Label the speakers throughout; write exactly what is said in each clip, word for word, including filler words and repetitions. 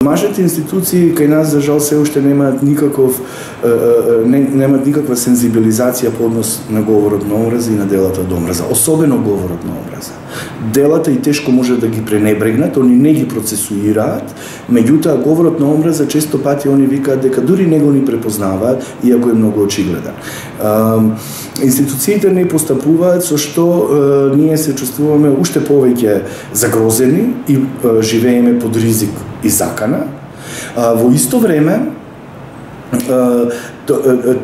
Speaker 1: Нашите институции кај нас за жал се уште немаат никаков не, немаат никаква сензибилизација по однос на говорот на омраза и на делата од омраза, особено говорот на омраза. Делата и тешко може да ги пренебрегнат, они не ги процесуираат, меѓутоа говорот на омраза често пати они викаат дека дури не го ни препознаваат, иако е многу очигледен. Институциите не постапуваат со што ние се чувствуваме уште повеќе загрозени и живееме под ризик и закана. Во исто време,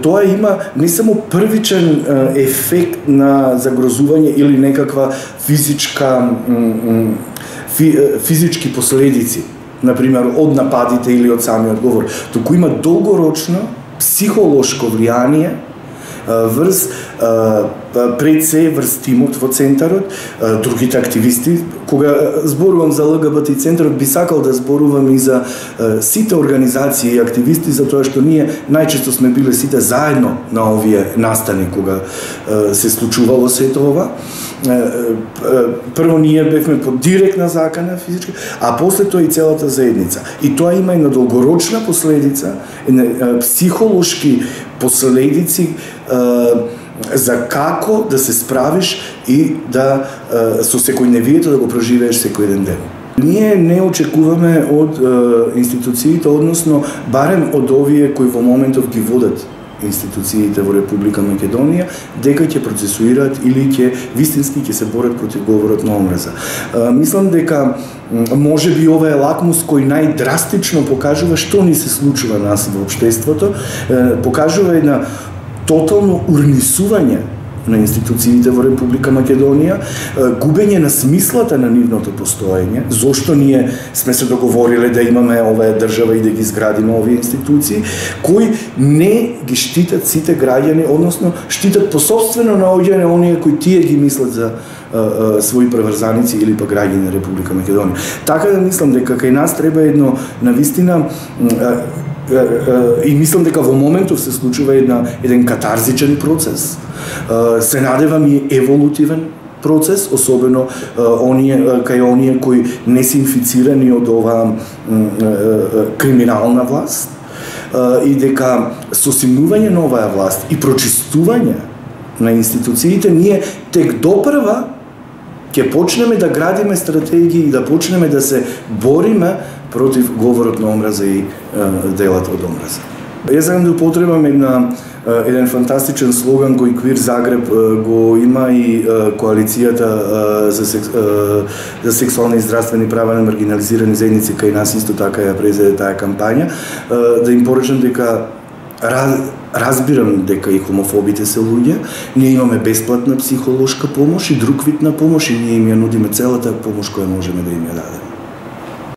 Speaker 1: тоа има не само првичен ефект на загрозување или некаква физичка физички последици, например од нападите или од самиот говор, туку има долгорочно психолошко влијание врз пред се врз тимот во центарот, другите активисти. Кога зборувам за Л Г Б Т центарот, би сакал да зборувам и за сите организации и активисти, затоа што ние најчесто сме биле сите заедно на овие настани кога се случувало сето ова. Прво ние бевме под директна закана физички, а после тоа и целата заедница. И тоа има една долгорочна последица, психолошки последици за како да се справиш и да со секојдневието да го проживееш секој еден ден. Ние не очекуваме од институциите, односно барем од овие кои во моментов ги водат институциите во Република Македонија, дека ќе процесуираат или ќе вистински ќе се борат против говорот на омраза. Мислам дека може би ова е лакмус кој најдрастично покажува што ни се случува нас во општеството, покажува една тотално урнисување на институциите во Република Македонија, губење на смислата на нивното постоење, зошто ние сме се договориле да имаме оваа држава и да ги изградиме овие институции, кои не ги штитат сите граѓани, односно штитат по сопствено наоѓање оние кои тие ги мислат за а, а, своји преврзаници или па граѓани на Република Македонија. Така да мислам дека кај нас треба едно навистина а, и мислам дека во моментов се случува една, еден катарзичен процес. Се надевам и еволутивен процес, особено оние, кај оние кои не се инфицирани од оваа криминална власт, и дека со симнување на оваа власт и прочистување на институциите, ние тек допрва ќе почнеме да градиме стратегии и да почнеме да се бориме против говорот на омраза и делата од омраза. Јас сакам да употребам една еден фантастичен слоган кој Квир Загреб го има и коалицијата за, секс, за сексуални и здравствени права на маргинализирани заедници кај нас исто така ја презеде таа кампања, да им порачам дека раз, разбирам дека и хомофобите се луѓе, ние имаме бесплатна психолошка помош и друг вид на помош и ние им ја нудиме целата помош која можеме да им ја дадеме.